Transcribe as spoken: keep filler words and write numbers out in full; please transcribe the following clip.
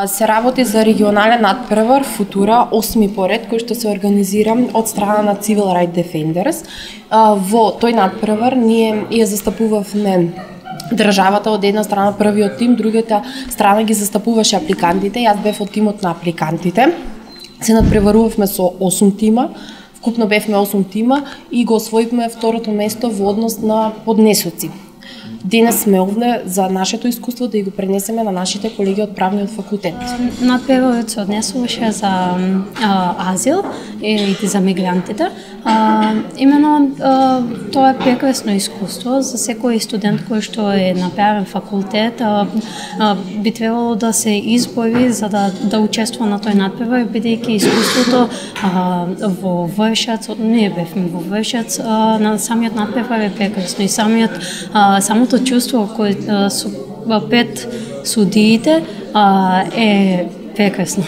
Се работи за регионален надпревар Футура, осми поред, кој што се организира од страна на Civil Rights Defenders. Во тој надпревар ние ја застапувавме државата од една страна, првиот тим, другата страна ги застапуваше апликантите. Јас бев од тимот на апликантите. Се надпреварувавме со осум тима, вкупно бевме осум тима и го освоивме второто место во однос на поднесоци. Денес сме овде за нашето искуство да и го пренесеме на нашите колеги од правниот факултет. Надпреварот се однесуваше за а, азил и за мигрантите. А, именно а, тоа е прекрасно искуство за секој студент кој што е на правен факултет. А, а, би требало да се избори за да да учествува на тој надпревар, бидејќи искуството а, во Вршац, ние бевме во Вршац, а, на самиот надпревар е прекрасно и самиот а, самото чувство кој со пред судиите а, е прекрасно.